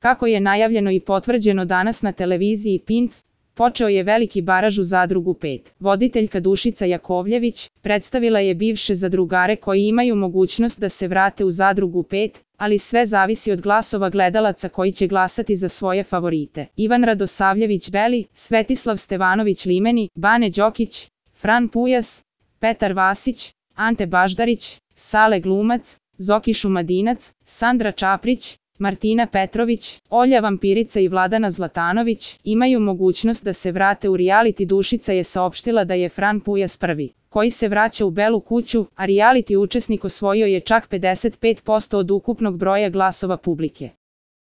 Kako je najavljeno i potvrđeno danas na televiziji Pink, počeo je veliki baraž u Zadrugu 5. Voditeljka Dušica Jakovljević predstavila je bivše zadrugare koji imaju mogućnost da se vrate u Zadrugu 5, ali sve zavisi od glasova gledalaca koji će glasati za svoje favorite. Ivan Radosavljević Beli, Svetislav Stevanović Limeni, Bane Đokić, Fran Pujas, Petar Vasić, Ante Baždarić, Sale Glumac, Zoki Šumadinac, Sandra Čaprić, Martina Petrović, Olja Vampirica i Vladana Zlatanović imaju mogućnost da se vrate u reality. Dušica je saopštila da je Fran Pujas prvi koji se vraća u Belu kuću, a reality učesnik osvojio je čak 55% od ukupnog broja glasova publike.